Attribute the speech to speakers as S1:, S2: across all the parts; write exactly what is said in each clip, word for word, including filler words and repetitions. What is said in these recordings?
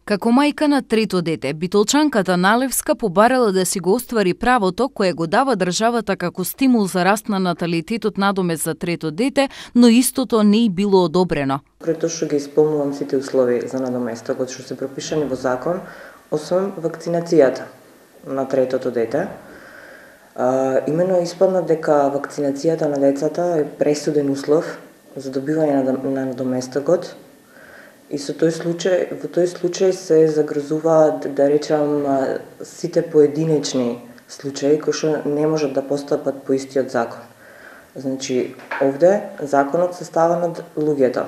S1: Како мајка на трето дете, Битолчанката Налевска побарала да си го оствари правото кое го дава државата како стимул за раст на наталитетот надомест за трето дете, но истото не и било одобрено.
S2: Прето што ги исполнувам сите услови за надоместокот што се пропишани во закон, освен вакцинацијата на третото дете. А, имено испадна дека вакцинацијата на децата е пресуден услов за добивање на, на надоместокот. И со тој случај, во тој случај се загрозуваат, да речам, сите поединечни случаи кои што не можат да постапат по истиот закон. Значи, овде законот се става над луѓето.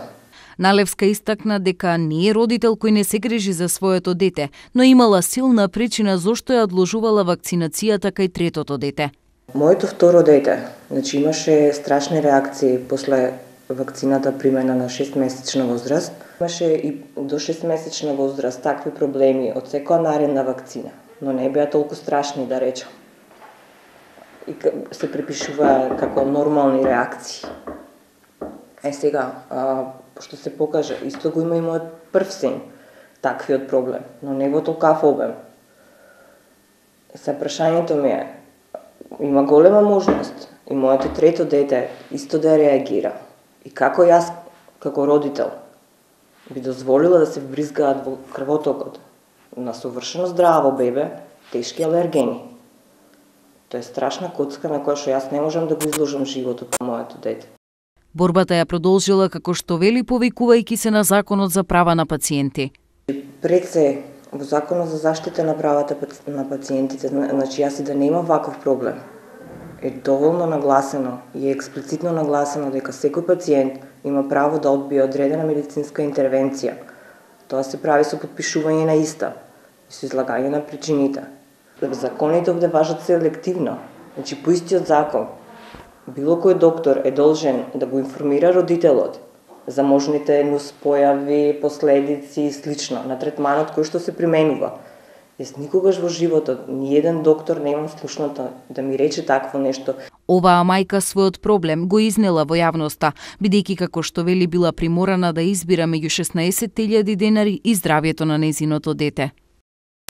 S1: Налевска истакна дека не е родител кој не се грижи за своето дете, но имала силна причина зошто ја одложувала вакцинацијата кај третото дете.
S2: Моето второ дете, значи имаше страшни реакции после вакцината примена на шестмесечна возраст. Имаше и до шестмесечна возраст такви проблеми од секоја наредна вакцина, но не беа толку страшни, да речам. И се припишува како нормални реакции. Е сега, а, што се покажа, исто го има и мојот прв син, таквиот проблем, но не во толкав обем. Се прашањето ми е, има голема можност и моето трето дете исто да реагира. И како јас, како родител, би дозволила да се вбризгаат во крвотокот на совршено здраво бебе тешки алергени. Тоа е страшна коцка на која што јас не можам да го изложам животот на моето дете.
S1: Борбата ја продолжила како што вели повикувајќи се на Законот за права на пациенти.
S2: Пред се, во Законот за заштита на правата на пациентите, значи јас и да нема ваков проблем, е доволно нагласено и е експлицитно нагласено дека секој пациент има право да одбие одредена медицинска интервенција. Тоа се прави со потпишување на иста и со излагање на причините. Законите овде важат селективно. Значи, по истиот закон, било кој доктор е должен да го информира родителот за можните нуспојави, последици и слично на третманот кој што се применува. Јас никогаш во животот, ни еден доктор не имам слушната да ми рече такво нешто.
S1: Оваа мајка својот проблем го изнела во јавноста, бидејќи како што вели била приморана да избира меѓу шеснаесет илјади денари и здравјето на нејзиното дете.